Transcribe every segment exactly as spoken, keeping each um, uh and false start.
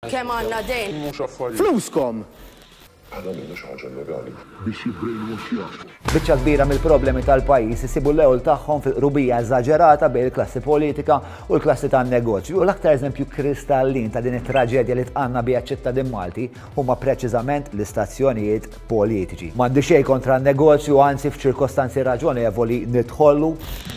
Kemm għandna dejn? Mhux affarijiet. Fluskom! Aħna għamilna xi ħaġa illegali. Biex jibbrainwashjakom. Biċċa kbira mill-problemi tal-pajjiż isibu l-ewl tagħhom fil-qrubija eżaġerata bejn il-klassi politika u l-klassi tan-negozju. U l-aktar eżempju kristallin ta' din it-traġedja li tqanna biha ċittadin Malti huma preċiżament l-istazzjonijiet politiċi. M'għandi xejn kontra n-negozju, anzi f'ċirkostanzi raġonevoli nidħollu.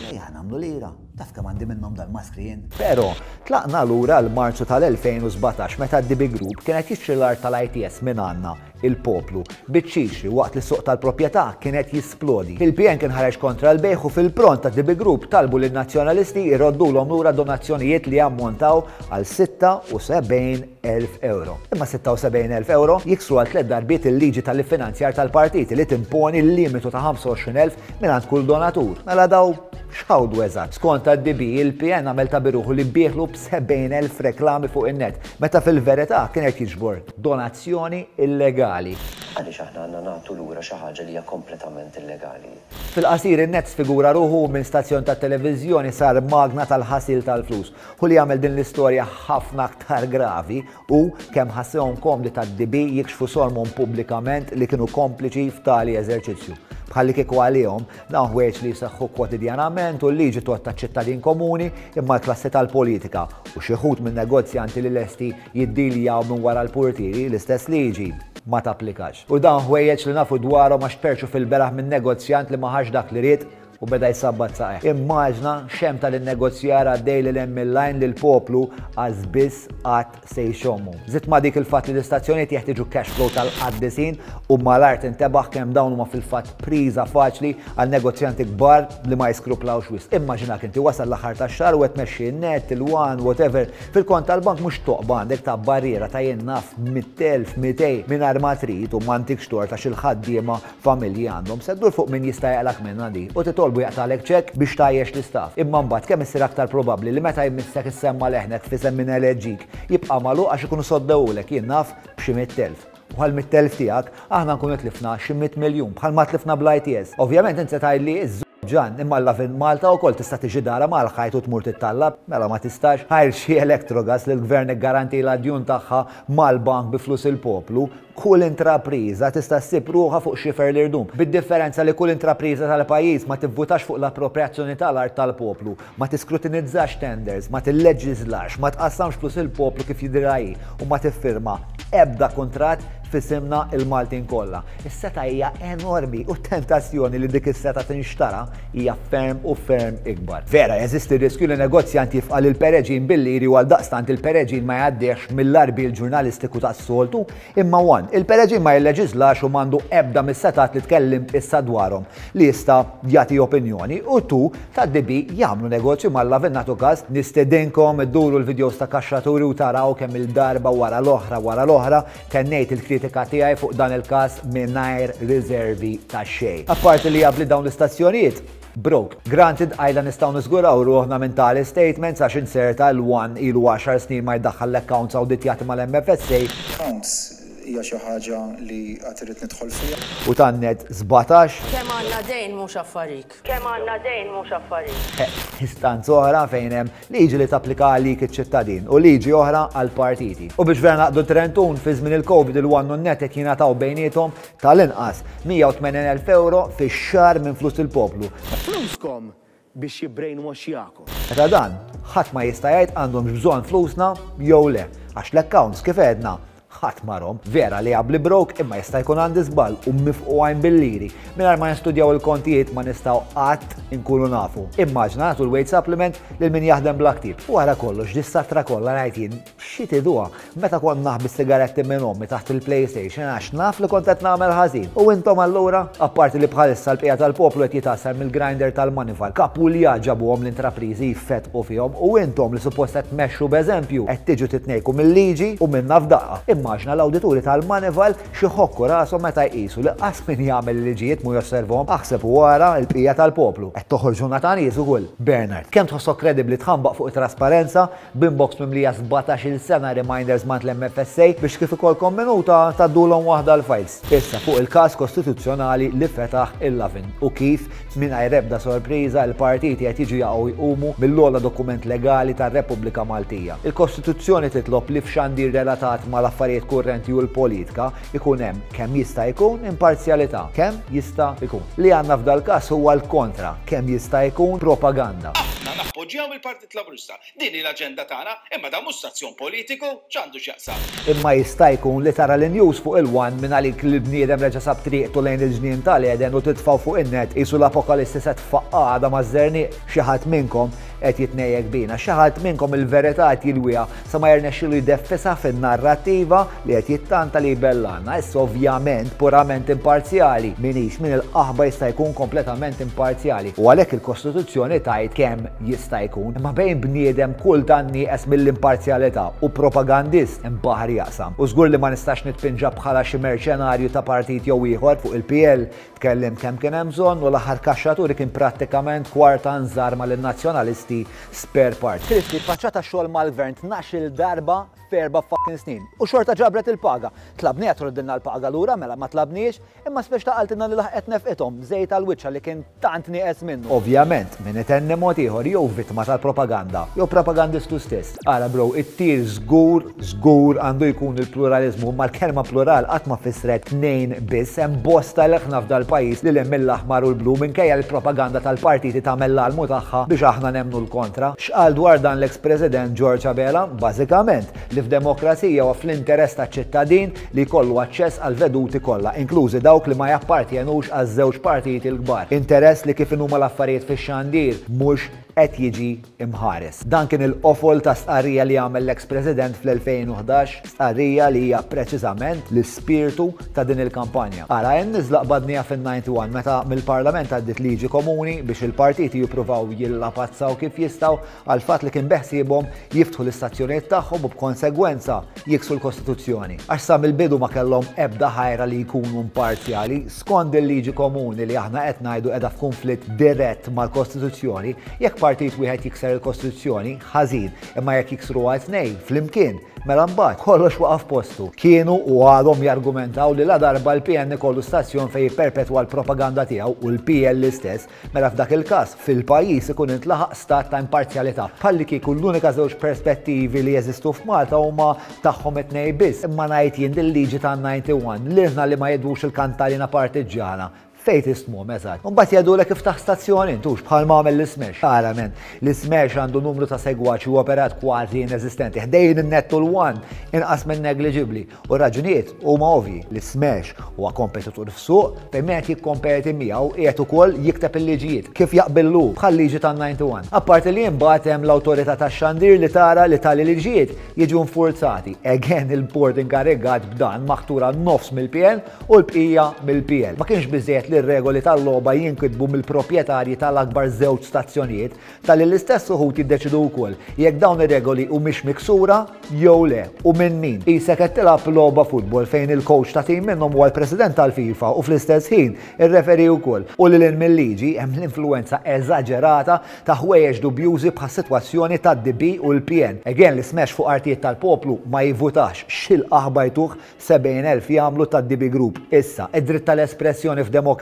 Ejja nagħmlu lira. Taf kemm għandi minnhom dal-maskri jien. Però tlaqna lura l-Marzu tal-elfejn u sbatax meta d-D B Group kienet jixtri l-art tal-I T S minn għandna il-poplu biċ-ċixri waqt li s-suq tal-proprjetà kienet jisplodi. Il-P N kien ħareġ kontra l-bejħ u fil-pront ta' D B Group talbu lin nazzjonalisti jroddulhom lura donazzjonijiet li ammontaw għal sitta u sebgħin elf euro. Imma sitta u sebgħin elf euro jiksru għal tliet darbiet il-liġi tal-iffinanzjar tal-partiti li timponi l-limitu ta' ħamsa u għoxrin elf mingħand kull donatur. Mela daw x'ħawdu eżatt? Skont D B, il-P N għamel ta' biruħu li bieħlu b'sebgħin elf reklami fuq in-net, meta fil-verità kienet jiġbor donazzjoni illegali. Għaliex aħna għandna nagħtu lura xi ħaġa li hija kompletament illegali? Fil-qasir in-net sfigura ruħu minn stazzjon ta' televiżjoni sar magna tal-ħasil tal-flus. Hu li jagħmel din l-istorja ħafna aktar gravi u kemm ħassewhom komdi tad-D B jikxfu sormhom pubblikament li kienu kompliċi f'tali eżerċizzju. Bħalli kieku għalihom dawn ħwejjeġ li jseħħu kwotidjanament u l-liġi tgħodd taċ-ċittadin komuni imma l-klassi tal-politika u xi wħud minn negozjanti li lesti jiddiljaw minn wara l-portieri l-istess liġi ma tapplikax. U dawn ħwejjeġ li nafu dwarhom għax tperċu fil-beraħ minn negozjant li ma ħax dak li ried u beda jsabbat saqajh. Immaġna xem tal-negozjar għaddej li hemm il-lajn li l-poplu għaż biss qatt se jxommu. Żid ma dik il-fatt li l-istazzjonijiet jeħtieġu cash flow tal-qaddisin u mal-art intebaħ kemm dawn huma fil-fatt priża faċli għal negozjanti kbar li ma jiskruplawx wisq. Immaġinak inti wasal l-aħħar tax-xahar u qed tmexxi n-net, il-One, whatever, fil-kont tal-bank mhux toqba għandek ta' barriera ta' jien naf mitt elf, mitej mingħajr ma trid u m'għandikx tort għax il-ħaddiema familji għandhom. Se ddur fuq min jista' jaqlak minnha di u titolbu jaqtalek ċekk biex tajjex l-istaff. Imma mbagħad kemm issir aktar probabbli li meta jmissek issemma leħnek f'isem min eleġik jibqa' magħluq għax ikunu soddewulek jien naf b'xi mitt elf. U għal mitt elf tiegħek aħna nkunu tlifna xi mitt miljun bħalma tlifna bl-I T S. Ovvjament inti se tgħidli iż-żobb ġan, imma l-Lovin Malta wkoll tista' tiġi dara mal-ħajt u tmur tittallab, mela ma tistax. Ħajr xi Electrogas li l-gvern iggaranti l-adjun tagħha mal-bank bi flus il-poplu, kull intrapriża tista' ssib ruħha fuq xifer l-irdum. Bid-differenza li kull intrapriża tal-pajjiż ma tivvutax fuq l-appropriazzjoni tal-art tal-poplu, ma tiskrutinizzax tenders, ma tilleġiżlax, ma tqassamx flus il-poplu kif jidhirha hi u ma tiffirma ebda kuntratt f'isimna il-Maltin kollha. Is-seta hija enormi u t-tentazzjoni li dik is-seta tinxtara hija ferm u ferm ikbar. Vera, jeżisti riskju li negozjant jifqa' lil Pereġin bil-liri u għaldaqstant il-Pereġin ma jgħaddix mill-arbil ġurnalistiku tas-soltu, imma one, il-Pereġin ma jilleġislax u m'għandu ebda mis-setat li tkellimt issa dwarhom li jista' jagħti opinjoni u tu tad-D B jagħmlu negozju mal-Lovin nagħtu każ. Nistedinkom idduru l-videos ta' kaxxaturi u taraw kemm il-darba wara l-oħra wara l-oħra tennejt il-kritika tiegħi fuq dan il-każ mingħajr riservi ta' xejn. Apparti li jabli dawn l-istazzjonijiet, broke. Granted, għajla nistgħu niżguraw ruħna minn tali statements għax inserta l-One ilu għaxar snin ma jdaħħal l-accounts awditjati mal-M F S A. Accounts hija xi ħaġa li qatt irrid nidħol fiha. U tan-net sbatax. Kemm għandna dejn mhux affarik. Kemm għandna dejn mhux affarik. Eh, istanza oħra fejn hemm liġi li tapplika għalik iċ-ċittadin u liġi oħra għall-partiti. U biex vera naqdu trentun fi żmien il-Covid il-One u n-net qed jingħataw bejniethom tal-inqas mija u tmenin elf euro fix-xahar minn flus il-poplu. Fluskom biex jibbrainwashjakom. Meta dan, ħadd ma jista' jgħid għandhomx bżonn flusna jew le, għax l-accounts kif għedna ħadd marhom. Vera li għabli broke imma jista' jkun għandi żball u mifqu għajn bil-liri. Mingħajr ma nistudjaw il-kontijiet ma nistgħu qatt inkunu nafu. Immaġna nagħtu l-wage supplement lil min jaħdem bla ktieb. U wara kollox dis-satra kollha ngħid jien xi tiduha meta kont naħbi sigaretti minn ommi taħt il-PlayStation għax naf li kont qed nagħmel ħażin. U intom allura, apparti li bħalissa l-bqija tal-poplu qed jitassar mill-grinder tal-Moneyval, kapulja ġabuhom l-intrapriżi jfetqu fihom u intom li suppost qed tmexxu b'eżempju qed tiġu titnejku mill-liġi u minna f'daqqa. Nimmaġina l-awdituri tal-Moneyval xi ħokku rashom meta jqisu li qas min jagħmel il-liġijiet mu josservhom, aħseb u wara l-bqija tal-poplu. Qed toħorġuna ta' nies ukoll. Bernard, kemm tħossok kredibbli tħambaq fuq it-trasparenza b'inbox mimlija sbatax-il sena reminders mant l-M F S A biex kif ikolkom minuta tgħaddulhom waħda l-files? Issa fuq il-każ kostituzzjonali li fetaħ il-Lovin u kif mingħajr ebda sorpriża l-partiti qed jiġu jaqgħu jqumu mill-ogħla dokument legali tar-Repubblika Maltija. Il-Kostituzzjoni titlob li f'xandir relatat mal-affarijiet kurrenti u l-politika ikun hemm kemm jista' jkun imparzjalità, kemm jista' jkun. Li għandna f'dal-każ huwa l-kontra, kemm jista' jkun propaganda. Aħna nappoġġjaw il-Partit Laburista. Din hi l-aġenda tagħna, imma dan mhux stazzjon politiku, x'għandu x'jaqsam? Imma jista' jkun li tara l-news fuq il-One minn għalik li bniedem reġa' sab triqtu lejn il-ġnien tal-Eden u titfaw fuq in-net qisu l-apokalissi se tfaqqada maż-żerniq. Xi ħadd minnkom qed jitnejjek bina, xi ħadd minnkom il-verità qed jilwiha sa ma jirnexxilu jdeffisha fin-narrattiva li qed jittanta li jbellanna. Issa ovvjament purament imparzjali minix, min il-qaħba jista' jkun kompletament imparzjali? U għalhekk il-Kostituzzjoni tgħid kemm jista' jkun. Imma bejn bniedem kultant nieqes mill-imparzjalità u propagandist hemm baħar jaqsam. U żgur li ma nistax nitpinġa bħala xi merċenarju ta' partit jew ieħor. Fuq il-P L tkellim kemm kien hemm bżonn u l-aħħar kaxxaturi kien prattikament kwarta nżarma lin-nazzjonalisti spare part. Kristi faċċata xogħol mal-gvern tnax-il darba f'erba' fucking snin. U xorta ġabret il-paga. Tlabniha troddilna l-paga lura, mela ma tlabniex, imma speċ ta' qaltilna li laħqet nefqithom żejt għal-wiċċa li kien tant nieqes minnu. Ovvjament, min itenni mod ieħor jew vittma tal-propaganda, jew propagandistu stess. Ara bro, it-tir żgur, żgur għandu jkun il-pluralizmu, ma l-kelma plural qatt ma fissret tnejn biss, hemm bosta leħna f'dal-pajjiż li hemm mill-aħmar u l-blu minkejja l-propaganda tal-partiti tagħmel l-almu tagħha biex aħna nemnu l-kontra. X'qal dwar dan l-ex-president George Abela? Bażikament li f'demokrazija u fl-interess taċ-ċittadin li jkollu aċċess għal veduti kollha, inklużi dawk li ma jappartjenux għaż-żewġ partiti l-kbar. Interess li kif inhuma l-affarijiet fix-xandir mhux qed jiġi imħares. Dan kien il-qofol ta' stqarrija li għamel l-ex-president fl-elfejn u ħdax, stqarrija li hija preċiżament l-ispirtu ta' din il-kampanja. Ara, n-niżla qbadnija fin-disgħa u disgħin meta mill-Parlament għaddit liġi komuni biex il-partiti jippruvaw jillapazzaw kif jistgħu għal fatt li kien beħsiebhom jiftħu l-istazzjonijiet tagħhom u b'konsegwenza jiksu l-Kostituzzjoni. Għax sa mill-bidu ma kellhom ebda ħajra li jkunu imparzjali. Skont il-liġi komuni li aħna qed ngħidu qiegħda f'konflitt dirett mal-Kostituzzjoni, jekk partit wieħed jikser il-Kostituzzjoni, ħażin, imma jekk jiksru għal tnejn flimkien, mela mbagħad kollox waqaf postu. Kienu u għadhom jargumentaw li la darba l-P N kollu stazzjon fejn jipperpetwa l-propaganda tiegħu u l-P L l-istess, mela f'dak il-każ fil-pajjiż ikun intlaħaq stat ta' imparzjalità. Bħalli kieku l-unika żewġ perspettivi li jeżistu f'Malta huma tagħhom it-tnejn biss. Imma ngħid jien, il-liġi ta' disgħa u disgħin li li ma jedux il-kantalina partiġġjana fejn tistmu eżatt? Mbagħad jgħidulek iftaħ stazzjon intux bħal ma għamel l-Smash. Ara men, l-Smash għandu numru ta' segwaċi u operat kważi ineżistenti. Ħdejn in-Net u l-One inqas minn negliġibbli. U raġunijiet huma ovvi: l-Smash huwa kompetitur f'suq fejn qed jikkompeti miegħu qiegħed ukoll jikteb il-liġijiet kif jaqbillu, bħal liġi tan-disgħa u disgħin. Apparti li imbagħad hemm l-awtorità tax-xandir li tara li tali liġijiet jiġu nfurzati. Again, il-board inkarigat b'dan maħtura nofs mill-P N u l-bqija mill-P L. Ma kienx biżejjed li r-regoli tal-logħba jinkitbu mill-proprjetarji tal-akbar żewġ stazzjonijiet, tal l-istess uħud jiddeċidu wkoll jekk dawn ir-regoli humiex miksura jew le u minn min. Qisek qed tilgħab logħba futbol fejn il-coach ta' tim minnhom huwa l-president tal-FIFA u fl-istess ħin ir-referee wkoll. U lil mill-liġi hemm l-influenza eżaġerata ta' ħwejjeġ dubjużi bħas sitwazzjoni tad-D B u l-P N. Again, li Smash fuq artijiet tal-poplu ma jivvutax, xil-qaħba jtuh sebgħin elf jagħmlu tad-D B Group. Issa, id-dritt tal-espressjoni f'demokrazija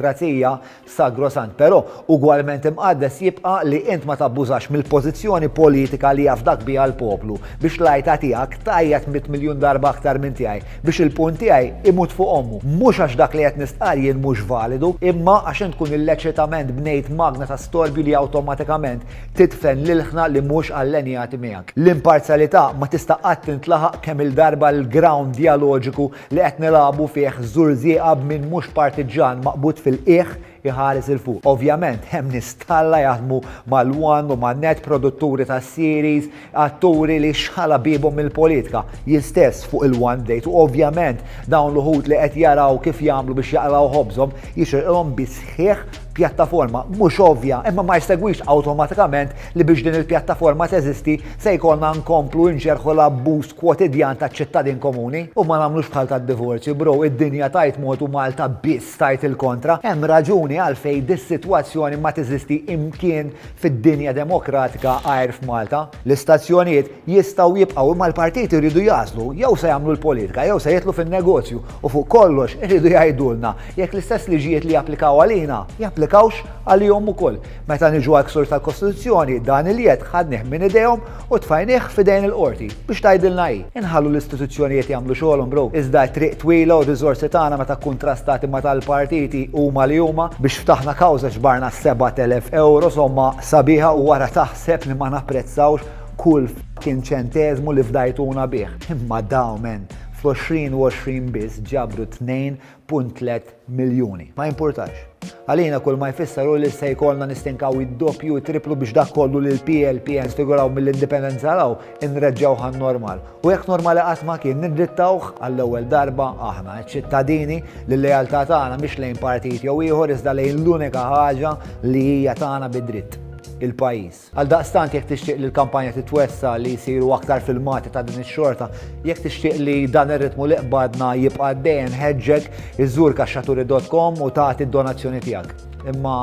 sagrosant, però ugwalment imqaddes jibqa' li int ma tabbużax mill-pożizzjoni politika li jafdak biha l-poplu biex l-għajta tiegħek tgħajjat mitt miljun darba aktar minn tiegħi biex il-punt tiegħi imut fuq ommu. Mhux għax dak li qed nistqar jien mhux validu, imma għax int tkun illeċitament bnejt magna ta' storbju li awtomatikament titfen lil-ħna li mhux allenjati miegħek. L-imparzjalità ma tista' qatt tintlaħaq kemm il-darba l-ground dialoġiku li qed nilagħbu fih żurżieqa minn mhux partiġan maqbud fil-qiegħ iħares 'il fuq. Ovvjament, hemm nies talla jaħdmu mal-One u man-Net, produtturi ta' series, atturi li xħala bibhom mill-politika. Jien stess fuq il-One Date u ovvjament dawn l-uħud li qed jaraw kif jagħmlu biex jaqlaw ħobżhom jixirqilhom bisħieħ Pjattaforma mhux ovvja, imma ma jsegwix awtomatikament li biex din il-pjattaforma teżisti se jkollna nkomplu nġerħu l-abbuż kwotidjan taċ-ċittadin komuni u ma nagħmlux bħal tad-divorzju, bro, id-dinja tajt mod u Malta biss tajt il-kontra. Hemm raġuni għalfejn dis-sitwazzjoni ma teżisti imkien fid-dinja demokratika għajr f'Malta. L-istazzjonijiet jistgħu jibqgħu, imma l-partiti jridu jagħżlu jew se jagħmlu l-politika jew se jidħlu fin-negozju, u fuq kollox iridu jgħidulna jekk l-istess liġijiet li japplikaw għalina japplikawx għalihom ukoll. Meta niġu għal ksur tal-Kostituzzjoni, dan il-jed ħadnih minn idejhom u tfajnih f'idejn il-qorti biex tgħidilna hi. Inħallu l-istituzzjonijiet jagħmlu xogħolhom, bro. Iżda triq twila u riżorsi tagħna meta kontrastati ma tal-partiti huma li huma biex ftaħna kawża ġbarna sebat elef euro somma sabiħa, u wara taħseb li ma napprezzawx kull fucking ċenteżmu li fdajtuna bih. Imma dawn, men, fl-għoxrin u għoxrin biss ġabru tnejn punt tliet miljuni. Ma jimpurtax. Għalina kull ma jfisser hu li se jkollna nistinkaw id-doppju u triplu biex dak kollu li l-P L P N sfiguraw mill-indipendenza law inreġġawh għan-normal. U jekk normali qatt ma kien, nindrittawh għall-ewwel darba aħna, ċittadini, li l-lealtà tagħna mhix lejn partit jew ieħor iżda lejn l-unika ħaġa li hija tagħna bid-dritt, il-pajjiż. Għal daqstant jekk tixtieq li l-kampanja titwessa li jsiru aktar filmati ta' din ix-xorta, jekk tixtieq li dan ir-ritmu li qbadna jibqa' dejjem, ħeġġek iżżur kaxxaturi dot com u tagħti d-donazzjoni tiegħek. Imma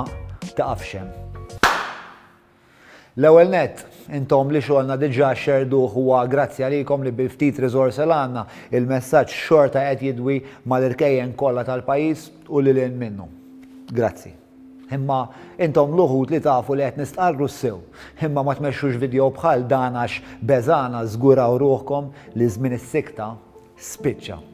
taqafx hemm. L-ewwel nett, intom li xogħolna diġà xerduh huwa grazzi għalikom li bil-ftit riżorsi li għandna il-messaġġ xorta qed jidwi mal-irkejjen kollha tal-pajjiż u lil hinn minnu. Grazzi. Imma intom l-uħud li tafu li qed nistqarru s-sew, imma ma tmexxux video bħal dan għax beżana żguraw ruħkom li żmien is-sikta spiċċa.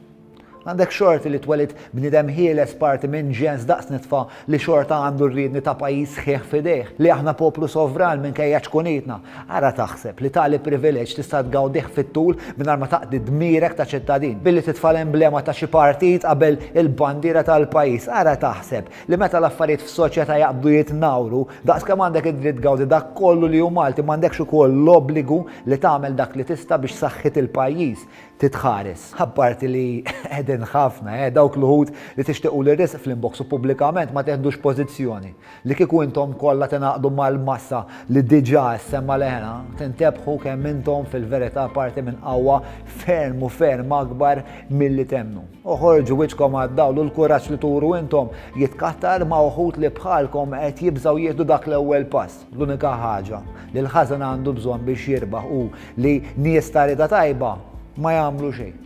Għandek xorti li twelid bniedem ħieles parti minn ġens daqs nitfa li xorta għandu r-riedni ta' pajjiż sħiħ f'idejh, li aħna poplu sovran minkejja ċkunitna. Ara taħseb li tali privileġġ tista' tgawdih fit-tul mingħajr ma taqdi dmirek ta' ċittadin, billi titfa' l-emblema ta' xi partit qabel il-bandiera tal-pajjiż. Ara taħseb li meta l-affarijiet f'soċjetà jaqbdu jitnawru, daqs kemm għandek id-dritt tgawdi dak kollu li hu Malti, m'għandekx ukoll l-obbligu li tagħmel dak li tista' biex saħħit il-pajjiż titħares. Apparti li qegħdin ħafna, eh, dawk l-uħud li tixtiequ li risq fl-inbox u pubblikament ma teħdux pożizzjoni. Li kieku intom kollha tingħaqdu mal-massa li diġà semma leħna, tintebħu kemm intom fil-verità parti minn qawwa ferm u ferm akbar milli temnu. Oħorġu wiċċkom għad-dawl u l-kuraġġ li turu intom jitkattar ma' uħud li bħalkom qed jibżgħu jieħdu dak l-ewwel pass. L-unika ħaġa li l-ħażen għandu bżonn biex jirbaħ hu li nies ta' rieda tajba ma jagħmlu xejn.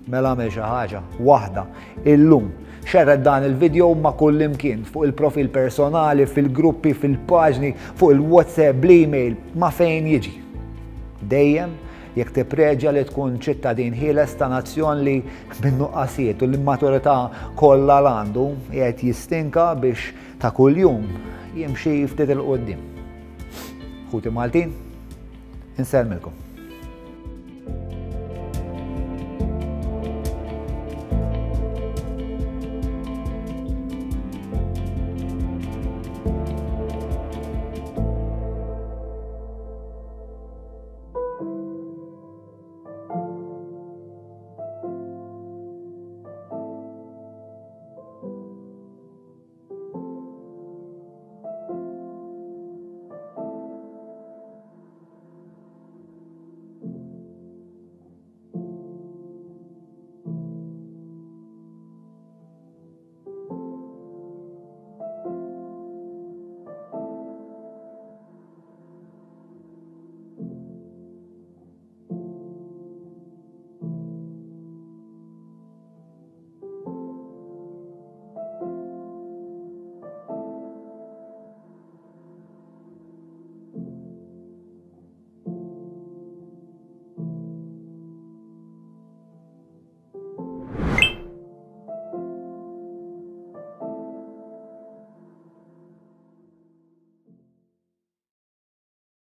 Mela għamel xi ħaġa waħda illum. Xerred dan il-video ma' kull imkien, fuq il-profil personali, fil-gruppi, fil-paġni, fuq il-WhatsApp, bl-email, ma' fejn jiġi. Dejjem jekk tippreġa li tkun ċittadin ħieles ta' nazzjon li bin-nuqqasijiet u l-immaturità kollha l-għandu qiegħed jistinka biex ta' kuljum jimxi ftit il-qudiem. Ħuti Maltin, insellmilkom.